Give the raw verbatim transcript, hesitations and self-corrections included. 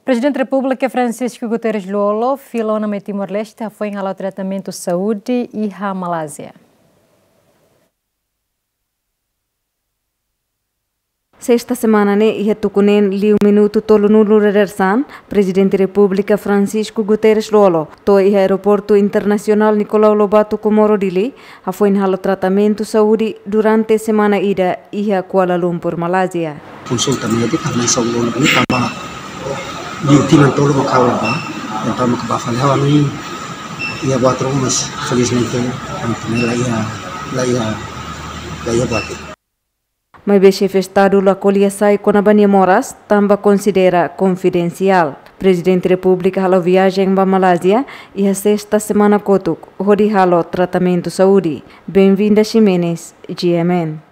Prezidente Repúblika Francisco Guterres Lú-Olo fila ona mai Timor-Leste hafoin hala'o tratamentu saúde iha Malázia. Sesta semana ne'e, iha tuku neen liu minutu tolunulu resin, Prezidente Repúblika Francisco Guterres Lú-Olo to'o iha Aeroportu Internasionál Nicolau Lobato Comoro Dili, hafoin halo tratamentu saúde durante semana ida iha Kuala Lumpur, Malázia. Konsulta médika, maibé só ulun ne'e tanba liu tinan tolu maka ha'u la bá, entaun maka bá fali ha'u ami iha buat ruma, mas felizmente ami la iha, la iha, la iha buat. Maibé Xefe Estadu la ko'alia sai kona-ba nia moras, tanba konsidera konfidensiál. Prezidente Repúblika hala'o viajen ba Malázia iha sesta semana kotuk, hodi halo tratamentu saúde. Benvinda Ximenes, G M N.